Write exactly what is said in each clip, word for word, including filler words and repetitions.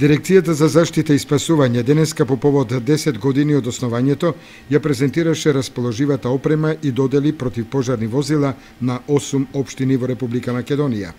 Дирекцијата за заштита и спасување денеска по повод десет години од основањето ја презентираше расположивата опрема и додели противпожарни возила на осум општини во Република Македонија.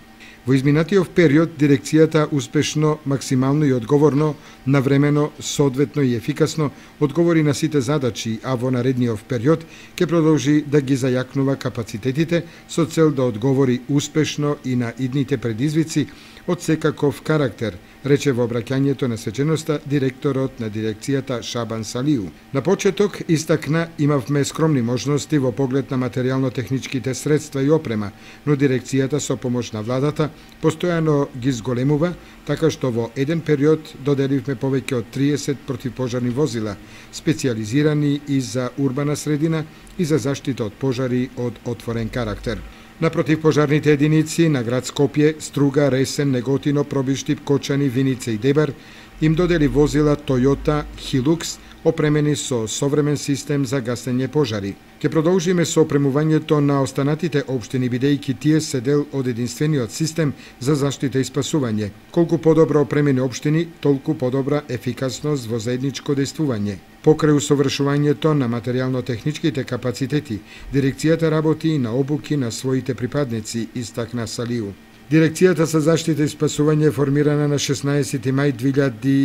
Во изминатиот период дирекцијата успешно, максимално и одговорно, навремено, соодветно и ефикасно одговори на сите задачи, а во наредниот период ќе продолжи да ги зајакнува капацитетите со цел да одговори успешно и на идните предизвици од секаков карактер, рече во обраќањето на свеченоста директорот на дирекцијата Шабан Салиу. На почеток истакна имавме скромни можности во поглед на материјално-техничките средства и опрема, но дирекцијата со помош на владата постојано ги зголемува, така што во еден период доделивме повеќе од триесет противпожарни возила, специјализирани и за урбана средина и за заштита од пожари од отворен карактер. На противпожарните единици на град Скопје, Струга, Ресен, Неготино, Пробиштип, Кочани, Виница и Дебар им додели возила Toyota Hilux опремени со современ систем за гасење пожари. Ке продолжиме со опремувањето на останатите општини, бидејќи тие се дел од единствениот систем за заштита и спасување. Колку подобро опремени општини, толку подобра ефикасност во заедничко дејствување. Покрај усовршувањето на материјално-техничките капацитети, дирекцијата работи и на обуки на своите припадници, истакна Салиу. Дирекцијата за заштита и спасување е формирана на шеснаесети мај две илјади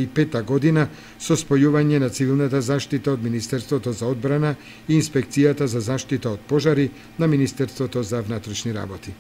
и пета година со спојување на цивилната заштита од Министерството за одбрана и Инспекцијата за заштита од пожари на Министерството за внатрешни работи.